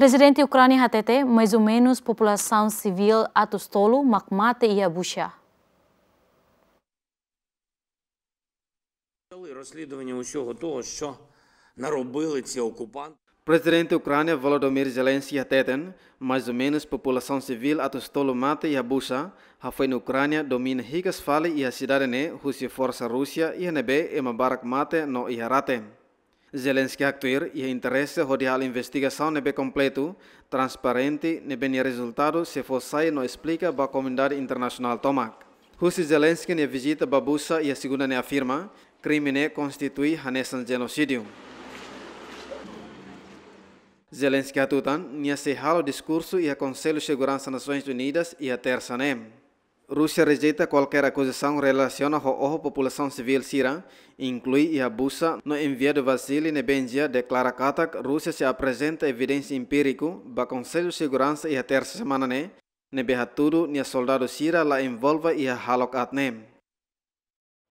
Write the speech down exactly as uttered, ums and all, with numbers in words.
Prezidente Ukránia hatete, mais ou menus populasaun sivíl atus tolu mak mate iha Bucha. Розслідування усього того, що наробили ці окупанти. Prezidente Ukránia Volodymyr Zelensky hateten, mais ou menus populasaun sivíl atus tolu mate iha Bucha, hafoin Ukránia domina hikas fali iha sidade ne'e husi forsa Rúsia, iha ne'ebé ema barak mate no iha rate. Zelensky haktuir iha interese hodi halo investigasaun ne'ebé kompletu, transparente, ne'ebé nia rezultadu sei fó sai no esplika ba komunidade internasionál tomak. Husi Zelensky nia vizita ba Bucha iha segunda ne'e afirma, krime ne'e konstitui hanesan jenosídiu. Zelensky hatutan, nia sei halo diskursu iha Konsellu Seguransa Nasoins Unidas iha tersa ne'e. Rúsia rejeita kualkér akuzasaun relasiona ho oho populasaun sivíl sira, inklui iha Bucha, no enviadu Vasily Nebenzia deklara katak Rúsia sei aprezenta evidénsia empíriku ba Konsellu Seguransa iha tersa semana ne'e, ne'ebé hatudu nia soldadu sira la envolve iha hahalok aat ne'e.